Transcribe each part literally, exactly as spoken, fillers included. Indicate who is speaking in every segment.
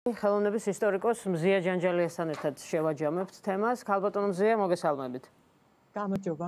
Speaker 1: ხელოვნების ისტორიკოს მზია ჯანჯალიასთან ერთად შევაჯამებთ თემას. ქალბატონო მზია, მოგესალმებით.
Speaker 2: გამარჯობა.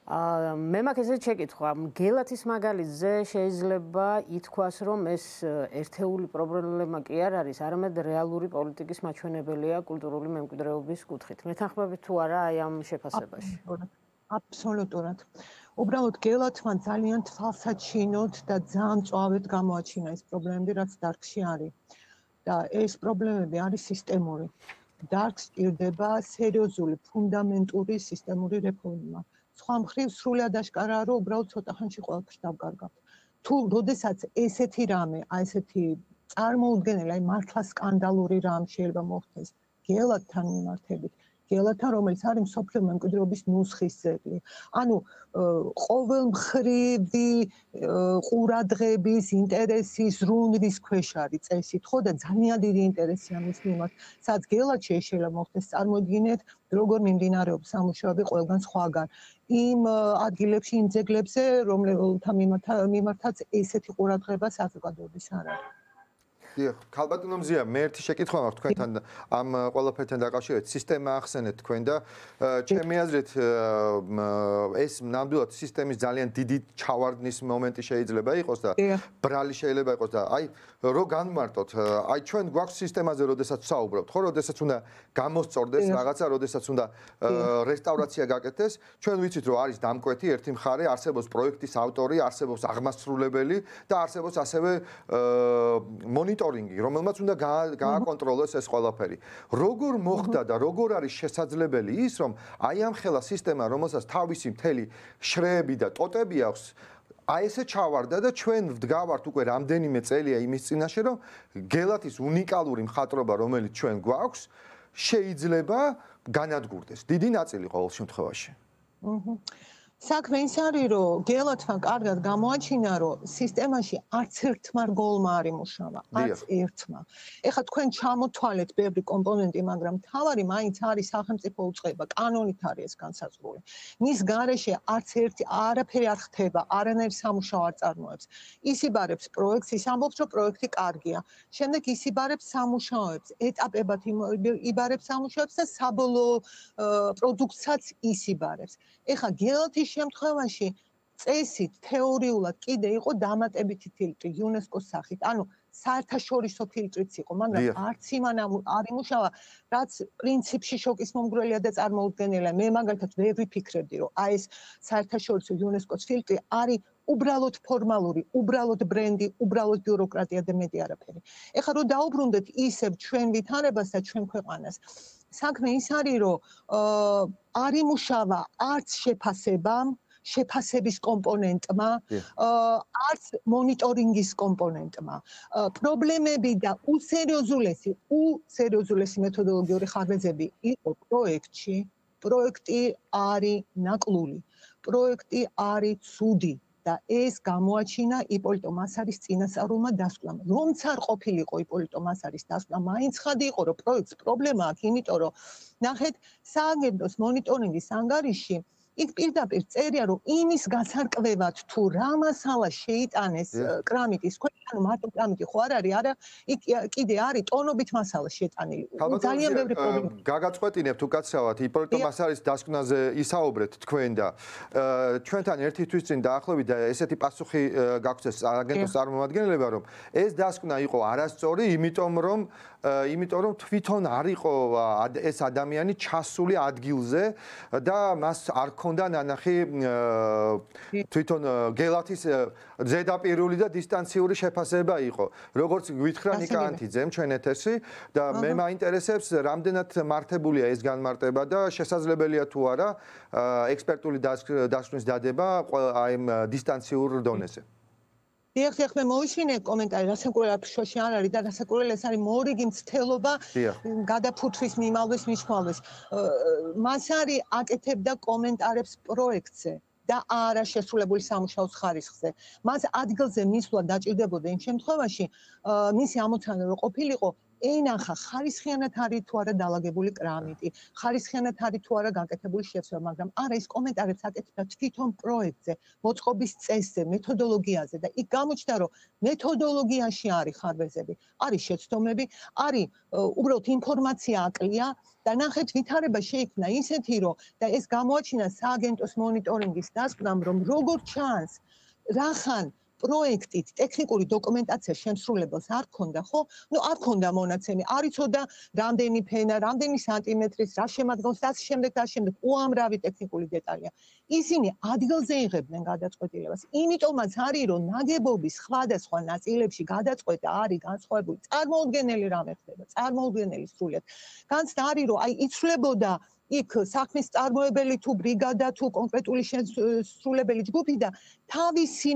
Speaker 1: აა მე მაქვს ესეთი შეკითხვა. გელათის მაგალითზე შეიძლება ითქვას, რომ ეს ერთეული პრობლემა კი არ არის, არამედ რეალური პოლიტიკის მაჩვენებელია კულტურული მემკვიდრეობის კუთხით. მეთანხმებით თუ არა აი ამ შეფასებაში?
Speaker 2: აბსოლუტურად. უბრალოდ გელათმა ძალიან თვალსაჩინოდ და ძალიან მწვავედ გამოაჩინა ეს პრობლემები, რაც დარგში არის. და ეს პრობლემები არის სისტემური. დარგს სჭირდება სერიოზული, ფუნდამენტური სისტემური რეფორმა. სხვა მხრივ სრულად აშკარაა, რომ უბრალოდ ცოტა ხანში ყველაფერს დავკარგავთ. თუ როდესაც ესეთი რამე, აი ესეთი წარმოუდგენელი, აი მართლა სკანდალური რამ შეიძლება მოხდეს გელათთან მიმართებით, გელათთან, რომელიც არის მსოფლიო მემკვიდრეობის ნუსხის ძეგლი. ანუ ყოველმხრივი ყურადღების, ინტერესის, ზრუნვის ქვეშ არის წესით, ხო და ძალიან დიდი ინტერესია მის მიმართ. სადაც გელათში შეიძლება მოხდეს, წარმოიდგინეთ, როგორ მიმდინარეობს სამუშაოები ყველგან სხვაგან. იმ ადგილებში, იმ ძეგლებზე, რომელთა მიმართაც ესეთი ყურადღება საზოგადოების არ არის.
Speaker 3: დიახ, ქალბატონო მზია, მე ერთი შეკითხვა მაქვს თქვენთან ამ ყველაფერთან დაკავშირებით. სისტემა ახსენეთ თქვენ და ჩემი აზრით ეს ნამდვილად სისტემის ძალიან დიდი ჩავარდნის მომენტი შეიძლება იყოს და ბრალი შეიძლება იყოს და აი რო განმარტოთ, აი ჩვენ გვაქვს სისტემაზე, როდესაც ვსაუბრობთ, ხო, როდესაც უნდა გამოსწორდეს რაღაცა, როდესაც უნდა რესტავრაცია გაკეთდეს, ჩვენ ვიცით, რომ არის დამკვეთი ერთი მხარე, არსებობს პროექტის ავტორი, არსებობს აღმასრულებელი და არსებობს ასევე მონიტორინგი, რომელმაც უნდა გააკონტროლოს ეს ყველაფერი. როგორ მოხდა და როგორ არის შესაძლებელი ის, რომ აი ამ ხელა სისტემა, რომელსაც თავისი მთელი შრეები და ტოტები აქვს, აი ესე ჩავარდა და ჩვენ ვდგავართ უკვე რამდენიმე წელია იმის წინაშე, რომ გელათის უნიკალური მხატვრობა, რომელიც ჩვენ გვაქვს, შეიძლება განადგურდეს. დიდი ნაწილი ყოველ შემთხვევაში.
Speaker 2: საქმე ის არის, რომ გელათმა კარგად გამოაჩინა, რომ სისტემაში არც ერთმა რგოლმა არ იმუშავა, არც ერთმა. ეხლა თქვენ ჩამოთვალეთ ბევრი კომპონენტი, მაგრამ მთავარი მაინც არის სახელმწიფო უწყება, კანონით არის ეს განსაზღვრული. მის გარეშე არც ერთი არაფერი არ ხდება, არანაირ სამუშაო არ წარმოებს. ისიბარებს პროექტს, ის ამბობს, რომ პროექტი კარგია. შემდეგ ისიბარებს სამუშაოებს, ეტაპებად იბარებს სამუშაოებს და საბოლოო პროდუქტსაც ისიბარებს. ეხლა გელათის შემთხვევაში წესით თეორიულად კიდე იყო დამატებითი ფილტრი იუნესკოს სახით. ანუ საერთაშორისო ფილტრიც იყო, მაგრამ არც იმან არ იმუშავა, რაც პრინციპში შოკის მომგვრელია და წარმოუდგენელია. მე მაგალითად ვერ ვიფიქრებდი, რომ აი ეს საერთაშორისო იუნესკოს ფილტრი არის უბრალოდ ფორმალური, უბრალოდ ბრენდი, უბრალოდ ბიუროკრატია და მეტი არაფერი. ეხლა რომ დაუბრუნდეთ ისევ ჩვენ ვითარებას და ჩვენ ქვეყანას. საქმე ის არის, რომ არ იმუშავა არც შეფასებამ, შეფასების კომპონენტმა, არც მონიტორინგის კომპონენტმა. პრობლემები და უსერიოზულესი, უსერიოზულესი მეთოდოლოგიური ხარბეზები იყო პროექტში. პროექტი არის ნაკლული, პროექტი არის ცუდი. და ეს გამოაჩინა იპოლიტო მასარის წინასწარულმა დასკვნამ. რომც არ ყოფილიყო იპოლიტო მასარის დასკვნა, მაინც ხადი იყო, რომ პროექტს პრობლემა აქვს, იმიტომ რომ ნახეთ, სააგენტოს მონიტორინგის ანგარიში იქ პირდაპირ წერია, რომ იმის გასარკვევად თუ რა მასალა შეიტანეს კრამიტის ქვეშ, ანუ მარტო კრამიტი ხო არ არის, არა, იქ კიდე არის ტონობით მასალა შეტანილი. ძალიან ბევრი პრობლემა.
Speaker 3: გაგაწყვეტინებთ უკაცრავად იპოლიტო მასალის დასკვნაზე ისაუბრეთ თქვენ და ჩვენთან ერთი თვის წინ დაახლოებით და ესეთი პასუხი გაგვცეს სააგენტოს წარმომადგენლებმა, რომ ეს დასკვნა იყო არასწორი, იმიტომ რომ იმიტომ რომ თვითონ არ იყო ეს ადამიანი ჩასული ადგილზე და მას არ ქონდა ნანახი თვითონ გელათის ზედაპირული და დისტანციური შეფასება იყო. როგორც გვითხრა ნიკა ანთიძემ ჩვენ ეთერში და მე მაინტერესებს რამდენად მართებულია ეს განმარტება და შესაძლებელია თუ არა ექსპერტული დასკვნის დადება აი ამ დისტანციურ დონეზე.
Speaker 2: დიახ, დიახ, მე მოვიშინე კომენტარი, რასაკურველი შოში არ არის და რასაკურველი ეს არის მორიგი მცდელობა გადაფუთვის მიმალვის მნიშვნელობას. მას არის აკეთებდა კომენტარებს პროექტზე და არა შესრულებული სამუშაოს ხარისხზე. მას ადგილზე მისვლა დაჭირდებოდა იმ შემთხვევაში, მისი ამოცანა რო ყოფილიყო ენახა ხარისხიანად არის თუ არა დალაგებული კრამიტი, ხარისხიანად არის თუ არა გაკეთებული შეცვლა, მაგრამ არა ის კომენტარებს აკეთებდა თვითონ პროექტზე, მოწყობის წესზე, მეთოდოლოგიაზე და იქ გამოჩნდა, რომ მეთოდოლოგიაში არის ხარბეზები, არის შეცდომები, არის უბრალოდ ინფორმაცია აკლია და ნახეთ ვითარება შეიქმნა ისეთი, რომ და ეს გამოაჩინა სააგენტოს მონიტორინგის დასკვნამ, რომ როგორ ჩანს, რახან პროექტით ტექნიკური დოკუმენტაცია შემსრულებელს არ ქონდა, ხო? ნუ არ ქონდა მონაცემი, არ იცოდა რამდენი ფენა, რამდენი სანტიმეტრის, რა შემადგენს და შემდეგ და შემდეგ უამრავი ტექნიკური დეტალია. ისინი ადგილზე იღებდნენ გადაწყვეტილებას. იმიტომაც არის, რომ ნაგებობის სხვადასხვა ნაწილებში გადაწყვეტა არის განსხვავებული. წარმოუდგენელი რამე ხდება, წარმოუდგენელი სრულიად. განცდა არის, რომ აი იცვლებოდა იქ საქმის წარმოებელი თუ ბრიგადა თუ კონკრეტული შესრულებელი ჯგუფი და თავისი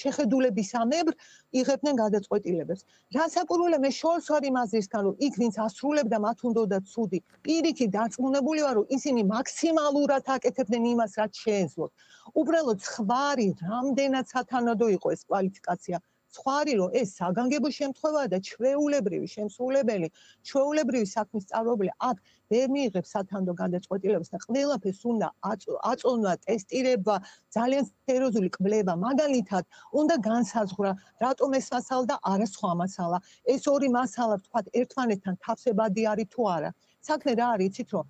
Speaker 2: შეხედულებისამებრ იღებდნენ გადაწყვეტილებებს. რასაკვირველია, მე შორს ვარ იმ აზრისგან, რომ იქ ვინც ასრულებდა მათ უნდოდა ცუდი. პირიქით დარწმუნებული ვარ, რომ ისინი მაქსიმალურად აკეთებდნენ იმას, რაც შეეძლოთ. უბრალოდ სხვა არის, რამდენად სათანადო იყო ეს კვალიფიკაცია. სხვა არის, რომ ეს საგანგებო შემთხვევაა და ჩვეულებრივი შემსრულებელი, ჩვეულებრივი საქმის წარმოებელი აქ ვერ მიიღებს სათანადო გადაწყვეტილებას და ყველაფერს უნდა აწონვა, ტესტირება, ძალიან სერიოზული კვლევა, მაგალითად, უნდა განსაზღვრა, რატომ ეს მასალა და არა სხვა მასალა. ეს ორი მასალა, ვთქვათ, ერთმანეთთან თავსებადი არის თუ არა. საქმე რა არის, იცით რომ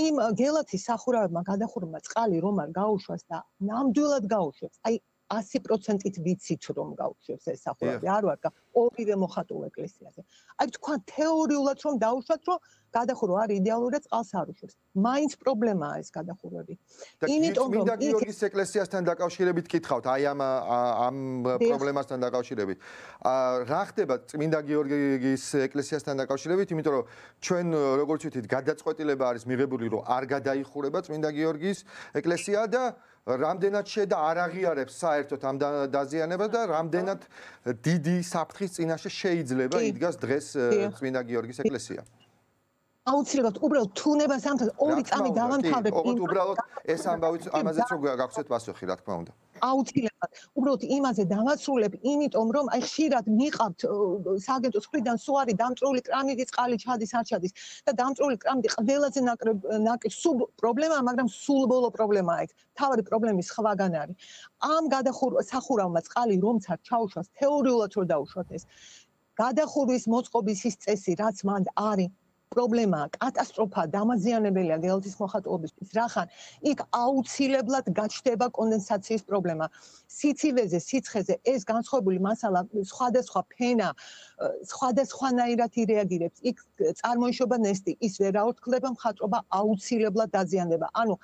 Speaker 2: იმ გელათის სახურავებმა გადახურვა წყალი რომ არ გაუშვას და ნამდვილად გაუშვებს. აი ასი პროცენტით ვიცით რომ გაუშვებს ეს სახურავი, არ ვარ ორივე მოხატულ ეკლესიაზე. აი თქვა თეორიულად რომ დაუშვათ, რომ გადახურვა არის იდეალური და წყალს არ უშვებს. მაინც პრობლემაა ეს გადახურვები.
Speaker 3: იმიტომ რომ წმინდა გიორგის ეკლესიასთან დაკავშირებით კითხავთ, აი ამ ამ პრობლემასთან დაკავშირებით. რა ხდება წმინდა გიორგის ეკლესიასთან დაკავშირებით, იმიტომ რომ ჩვენ როგორც ვთქვით, გადაწყვეტილება არის მიღებული, რომ არ გადაიხურება წმინდა გიორგის ეკლესია და რამდენად შედა არ აღიარებს საერთოდ ამ დაზიანებას და რამდენად დიდი საფრთხის წინაშე შეიძლება იდგას დღეს წმინდა გიორგის ეკლესია.
Speaker 2: აუცილებლად უბრალოდ თუნებას ამთან ორი წამი დავამთავრებ.
Speaker 3: ოღონდ უბრალოდ ეს ამბავი ამაზეც რო გაგცეთ პასუხი, რა თქმა უნდა.
Speaker 2: აუცილებლად უბრალოდ იმაზე დავასრულებ, იმიტომ რომ აი ხშირად მიყავთ სააგენტოს მხრიდან სულ არის დამწრული კრამიტი, წყალი ჩადის, არ ჩადის და დამწრული კრამიტი ყველაზე ნაკლებ სულ პრობლემაა, მაგრამ სულ ბოლო პრობლემაა იქ. თავი პრობლემის სხვაგან არის. ამ გადახურვა სახურავმა წყალი რომც არ ჩაუშვას, თეორიულად რო დაუშვათ ეს. გადახურვის მოწყობის ის წესი, რაც მანდ არის პრობლემაა, კატასტროფა, დამაზიანებელია გელათის მოხატულობისთვის. რახან იქ აუცილებლად გაჩნდება კონდენსაციის პრობლემა. სიცივეზე, სიცხეზე ეს განსხვავებული მასალა სხვადასხვა ფენა, სხვადასხვანაირად ირეაგირებს. იქ წარმოიშობა ნესტი, ის ვერ აორთქლდება, მხატვრობა აუცილებლად დაზიანდება. ანუ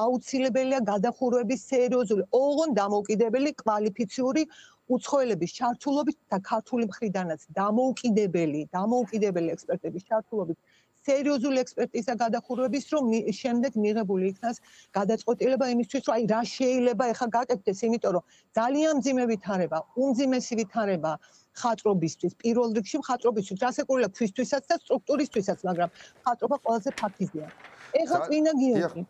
Speaker 2: აუცილებელია გადახურვების სერიოზული, ოღონდ დამოუკიდებელი კვალიფიციური უცხოელების ჩართულობით და ქართული მხრიდანაც დამოუკიდებელი, დამოუკიდებელი ექსპერტების ჩართულობით სერიოზული ექსპერტიზა გადახურვების, რომ შემდეგ მიღებული იქნას გადაწყვეტილება იმისთვის, რომ აი რა შეიძლება ეხლა გაკეთდეს, იმიტომ რომ ძალიან მძიმე ვითარება, უმძიმესი ვითარება ხატრობისთვის, პირველ რიგში ხატრობისთვის, რასაკვირველია ქვისთვისაც და სტრუქტურისთვისაც, მაგრამ ხატრობა ყველაზე ფაქიზია. ეხლა წმინდა გიორგი.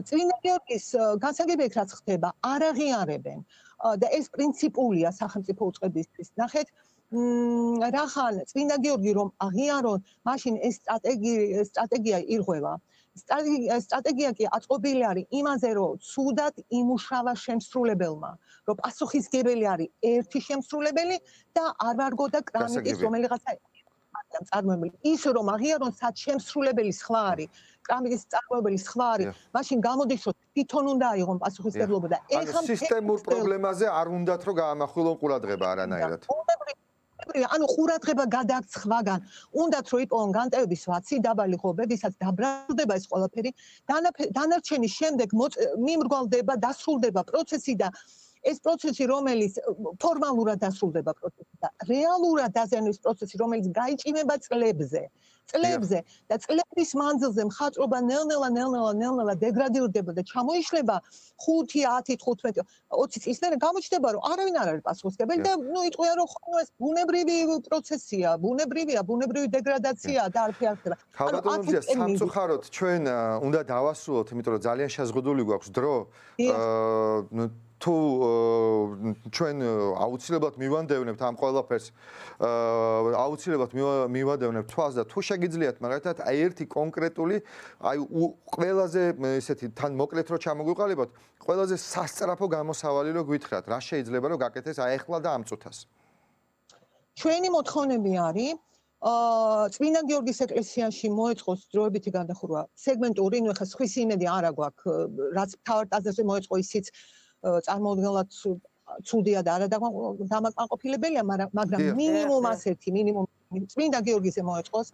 Speaker 2: წმინდა გიორგის განსაგებია რაც ხდება, არ აღიარებენ. და ეს პრინციპულია სახელმწიფო უწყებისთვის. ნახეთ, რახან წმინდა გიორგი რომ აღიარონ, მაშინ ეს სტრატეგია სტრატეგია ირღვევა. სტრატეგია კი აწყობილი არის იმაზე, რომ ცუდად იმუშავა შემსრულებელმა, რომ პასუხისმგებელი არის ერთი შემსრულებელი და არ ვარგოდა კრამიტის რომელიღაცა წარმოებელი. ის რომ აღიარონ, სად შემსრულებელი სხვა არის, კრამიტის წარმოებელი სხვა არის, მაშინ გამოდის, რომ თვითონ უნდა აიღონ პასუხისმგებლობა და
Speaker 3: ეხლა სისტემურ პრობლემაზე არ უნდათ რომ გაამახვილონ ყურადღება არანაირად.
Speaker 2: ანუ ყურადღება გადააქვს სხვაგან. უნდათ რომ იპოვონ განტევების ვაცი, დაბალი ღობებისაც დაბრალდება ეს ყველაფერი. დანარჩენის შემდეგ მიმრგვალდება, დასრულდება პროცესი და ეს პროცესი, რომელიც ფორმალურად დასრულდება პროცესი და რეალურად დაზიანების პროცესი, რომელიც გაიჭიმება წლებზე. წლებზე და წლების მანძილზე მხატვრობა ნელ-ნელა, ნელ-ნელა, ნელ-ნელა დეგრადირდება და ჩამოიშლება ხუთი, ათი, თხუთმეტი, ოცი წლის მერე გამოჩნდება, რომ არავინ არ არის პასუხისმგებელი და ნუ იტყვია, რომ ხო ეს ბუნებრივი პროცესია, ბუნებრივია, ბუნებრივი დეგრადაციაა და არაფერი არ ხდება.
Speaker 3: ხალბატონებია, სამწუხაროდ ჩვენ უნდა დავასრულოთ, იმიტომ რომ ძალიან შეზღუდული გვაქვს დრო. თუ ჩვენ აუცილებლად მივანდევნებთ ამ ყველაფერს აუცილებლად მივანდევნებთ თვალს და თუ შეგიძლიათ მაგალითად აი ერთი კონკრეტული აი ყველაზე ესეთი თან მოკლედ რო ჩამოგვიყალიბოთ ყველაზე სასწრაფო გამოსავალი რო გვითხრათ რა შეიძლება რომ გაკეთდეს აი ახლა და ამ წუთას
Speaker 2: ჩვენი მოთხოვნები არის აა წმინდა გიორგის ეკლესიაში მოეწყოს დროებითი გადახურვა სეგმენტური ნუ ახლა სხვისი იმედი არა გვაქვს რაც თავად ტაძარზე მოეწყო ისიც წარმოუდგენლად ცუდია და არა დამაკმაყოფილებელია მაგრამ მინიმუმ ასეთი მინიმუმ წმინდა გიორგიზე მოეწყოს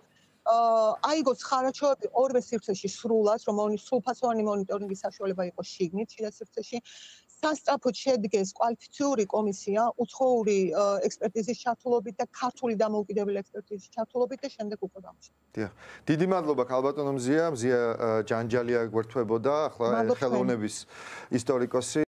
Speaker 2: აიგოს ხარაჩოები ორვე სივრცეში სრულად რომ სრულფასოვანი მონიტორინგის საშუალება იყოს შიგნით შიდა სივრცეში სასწრაფოდ შედგეს კვალიფიციური კომისია უცხოური ექსპერტიზის ჩართულობით და ქართული დამოუკიდებელი ექსპერტიზის ჩართულობით და შემდეგ უკვე გამოსვლა.
Speaker 3: დიახ. დიდი მადლობა ქალბატონო მზია, მზია ჯანჯალია გვერდთვებოდა, ახლა ხელოვნების ისტორიკოსი